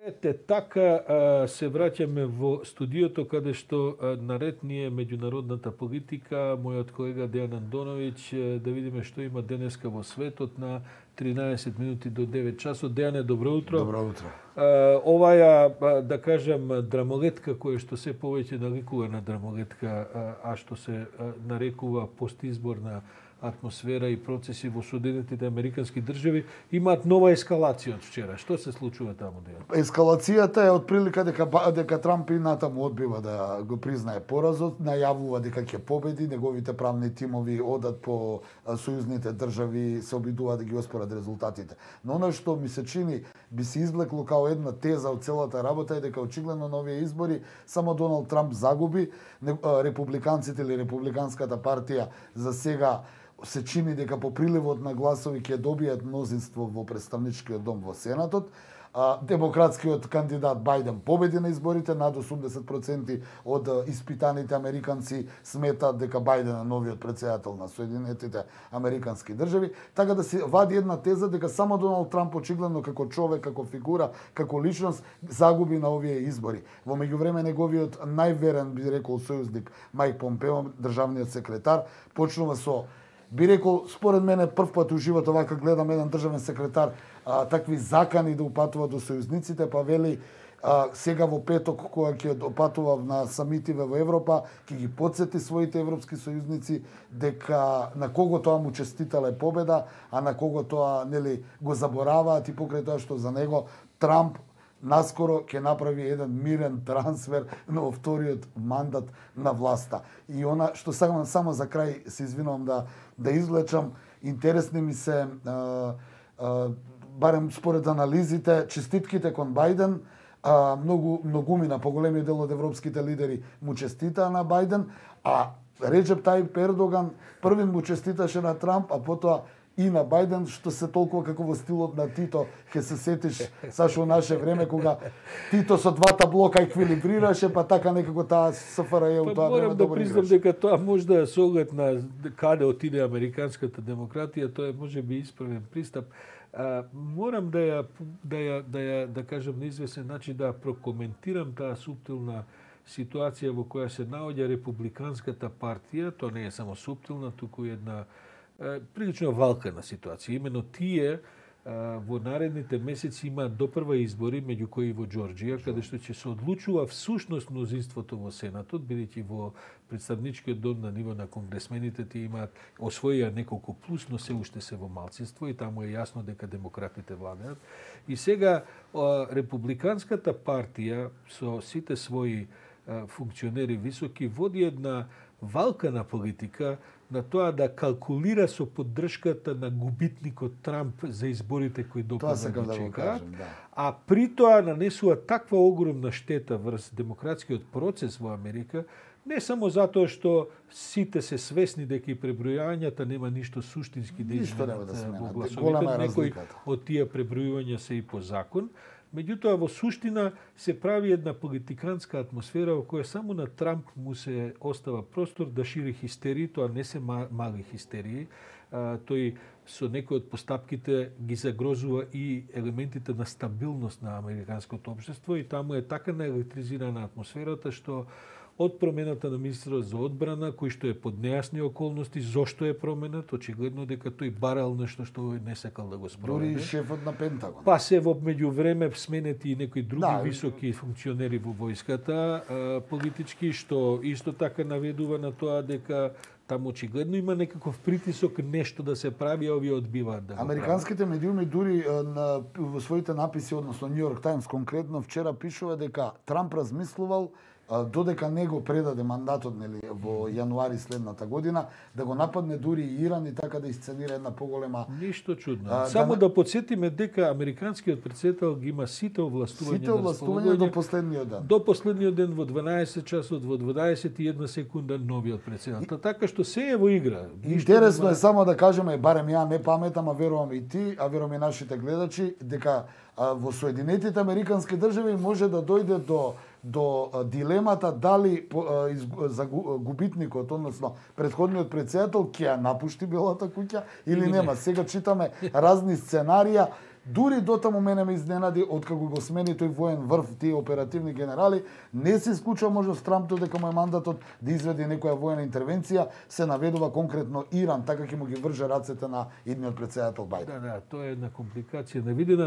Ете, така се враќаме во студиото каде што наред ни е меѓународната политика. Мојот колега Дејан Андоновиќ, да видиме што има денеска во светот на 13 минути до 9 часот. Дејане, добро утро. Добро утро. Оваја, да кажам, драмолетка која што се повеќе наликува на драмолетка, а што се нарекува постизборна атмосфера и процеси во Соединетите Американски држави, имаат нова ескалација од вчера. Што се случува таму, Дејан? Ескалацијата е од прилика дека Трамп и натаму одбива да го признае поразот, најавува дека ќе победи, неговите правни тимови одат по сојузните држави, се обидуваат да ги оспорат резултатите. Но она што ми се чини би се извлекло као една теза од целата работа е дека очигледно на овие избори само Доналд Трамп загуби, републиканците или републиканската партија за сега се чини дека по приливот на гласови ќе добијат мнозинство во представничкиот дом во Сенатот. Демократскиот кандидат Бајден победи на изборите, над 80% од испитаните американци сметаат дека Бајден е новиот претседател на Соединетите Американски држави, така да се вади една теза дека само Доналд Трамп очигледно како човек, како фигура, како личност загуби на овие избори. Во меѓувреме неговиот најверен, би рекол, сојузник Мајк Помпео, државниот секретар, почнува со, би рекол, според мене прв пат у живот вака гледам еден државен секретар такви закани да упатува до сојузниците, па вели сега во петок кога ќе опатува на самитиве во Европа, ќе ги потсети своите европски сојузници дека на кого тоа му честитале победа, а на кого тоа нели го забораваат и покрај тоа што за него Трамп наскоро ќе направи еден мирен трансфер на вториот мандат на власта. И она што сакам само за крај се извинувам да извлечам, интересни ми се барем според анализите, честитките кон Бајден, многумина, поголемиот дел од европските лидери му честитаа на Бајден, а Реджеп Тајип Ердоган првин му честиташе на Трамп, а потоа и на Бајден, што се толкова како во стилот на Тито, ќе се сетиш сашо наше време кога Тито со двата блока еквилибрираше, па така некако таа СФРЈ у тоа време добро играше. Морам да признам дека тоа може да се оглед на каде отиде американската демократија, тоа е можеби исправен пристап. Морам да кажам на известен начин да прокоментирам таа суптилна ситуација во која се наоѓа републиканската партија. Тоа не е само суптилна, туку една прилично валкана ситуација. Имено тие во наредните месеци имаат допрва избори, меѓу кои во Џорџија, каде што ќе се одлучува всушност мнозинството во Сенатот, бидејќи во представничкиот дом на ниво на конгресмените тие имаат освоија неколку плюс, но се уште се во малцинство и таму е јасно дека демократите владеат. И сега републиканската партија со сите своји функционери високи води една валкана политика на тоа да калкулира со поддршката на губитникот Трамп за изборите кои допрва да чекаат, а при тоа нанесува таква огромна штета врз демократскиот процес во Америка, не само затоа што сите се свесни дека и пребројањата нема ништо суштински да изменат во гласовите, некои од тие пребројувања се и по закон. Меѓутоа, во суштина се прави една политиканска атмосфера во која само на Трамп му се остава простор да шири хистерии, тоа не се мали хистерии. Тој со некои од постапките ги загрозува и елементите на стабилност на американското општество и таму е така наелектризирана атмосферата што од промената на министерот за одбрана, кој што е под нејасни околности, зошто е променет, очигледно дека тој барал нешто што не сакал да го спроведе. Дури и шефот на Пентагон. Па се во меѓувреме сменети и некои други високи функционери во војската, политички, што исто така наведува на тоа дека таму очигледно има некаков притисок нешто да се прави, а овие одбиваат да го прават. Американските медиуми дури во своите написи, односно Нью Йорк Таймс конкретно вчера пишува дека Трамп размислувал додека не го предаде мандатот нели во јануари следната година да го нападне дури и Иран и така да исценира една поголема. Ништо чудно. Само да подсетиме дека американскиот претседател ги има сите овластувања до последниот ден. До последниот ден во 12 часот, во 21 секунда новиот претседател. Така што се е во игра. Интересно е само да кажеме, барем ја не паметам, а верувам и ти, а верувам и нашите гледачи, дека во Соединетите Американски држави може да дојде до дилемата дали за губитникот, односно претходниот претседател ќе ја напушти Белата куќа или нема. Сега читаме разни сценарија Дури дотаму мене ме изненади откако го смени тој воен врв, тие оперативни генерали, не се исклучува можност Трамп дека му е мандатот да изведе некоја воена интервенција, се наведува конкретно Иран, така ќе му ги врже рацете на идниот претседател Бајден. Да, тоа е една компликација невидена.